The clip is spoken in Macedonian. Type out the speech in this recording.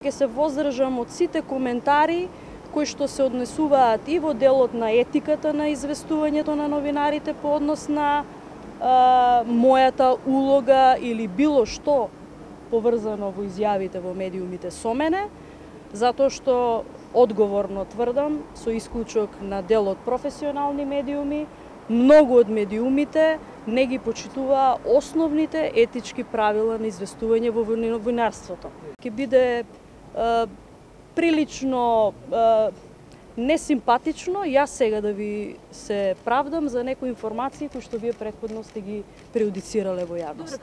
Ќе се воздржам од сите коментари кои што се однесуваат и во делот на етиката на известувањето на новинарите по однос на мојата улога или било што поврзано во изјавите во медиумите со мене, затоа што одговорно тврдам, со исклучок на дел од професионални медиуми, многу од медиумите не ги почитуваа основните етички правила на известување во новинарството. Ќе биде прилично несимпатично јас сега да ви се правдам за некои информации кои што вие претходно сте ги прејудицирале во јавност.